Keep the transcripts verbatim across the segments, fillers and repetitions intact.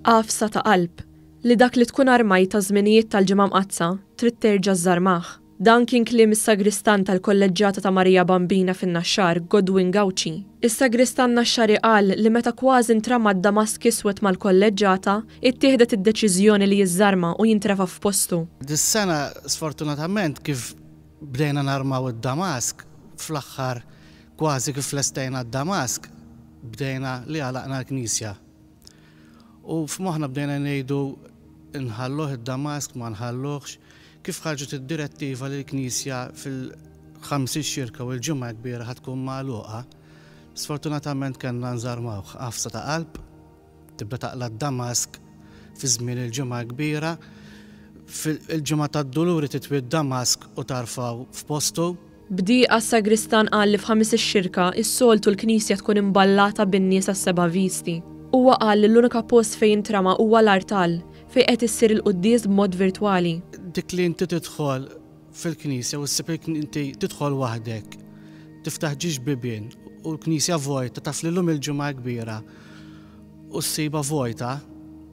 Għafsa ta' qalb li dak li tkun armajt ta' żminijiet tal-Ġimgħa Mqaddsa trid terġa' żżarmah. Dan kien kliem is-sagristan tal-Kolleġġjata ta' Marija Bambina fin-Naxxar, Godwin Gauci. Is-sagristan Naxxari qal li meta kważi ntrama d-damask iswed mal-kolleġġjata, ittieħdet id-deċiżjoni li jiżżarma u jintrefa' f'postu. Dis-sena, sfortunatament, kif bdejna narmaw id-damask, fl-aħħar kważi kif lestejna d-damask, bdejna li għalaqna l-knisja. U f'moħħna bdejna ngħidu nħalluh id-damask, ma nħalluhx, kif ħarġet id-direttiva li l-knisja fil-Ħamis ix-Xirka u l-Ġimgħa Kbira ħa tkun magħluqa, sfortunatament kellna nżarmawh. Għafsa ta' qalb, tibda taqla' d-damask fi żmien il-Ġimgħa Kbira, fil-Ġimgħa tad-Duluri titwi d-damask u tarfgħu f'postu. B'dieqa s-sagristan qal li f'Ħamis ix-Xirka s-soltu l-knisja tkun imballata bin-nies għas-seba' visti. Huwa qal li l-unika post fejn intrama huwa l-artal fejn qed issir il-quddies b'mod virtwali. Dik li inti tidħol fil-knisja u ssib inti tidħol waħdek, tiftaħ ġiex bibien u l-knisja vojta, taf li llum il-Ġimgħa Kbira u ssiba vojta,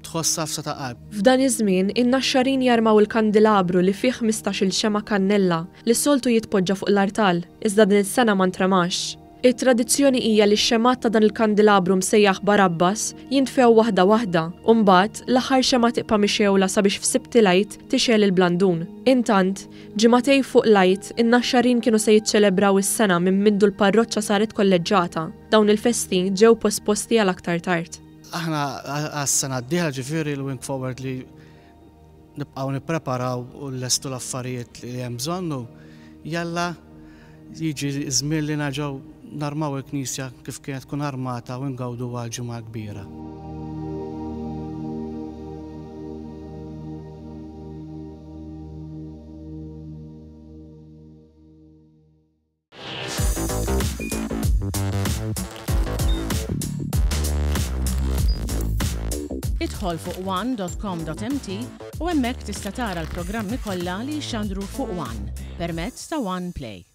tħoss għafsa ta' qalb. F'dan iż-żmien, in-Naxxarin jarmaw il-kandilabru li fih ħmistax-il xemgħa kannella li s-soltu jitpoġġa fuq l-artal, iżda din is-sena ma ntramax. It-tradizzjoni hija li x-xemgħat ta' dan il-kandilabru msejjaħ Barabbas jintfew waħda waħda u mbagħad l-aħħar xemgħa tibqa' mixewla sabiex f'Sibt il-Għid tixgħel il-blandun. Intant, ġimagħtejn fuq l-Għid, in-Naxxarin kienu se jiċċelebraw is-sena minn mindu l-parroċċa saret kolleġġata. Dawn il-festi ġew posposti għal aktar tard. Aħna għas-sena d-dieħla, ġifieri l-wing forward li nibqgħu nippreparaw u nlestu l-affarijiet li hemm bżonn u jalla jiġi żmien li nerġgħu narmaw il-knisja kif kienet tkun armata u ngawdu għal Ġimgħa Kbira. Idħol fuq one dot com dot m t u hemmhekk tista' tara l-programmi kollha li jixxandru fuq One permezz ta' One Play.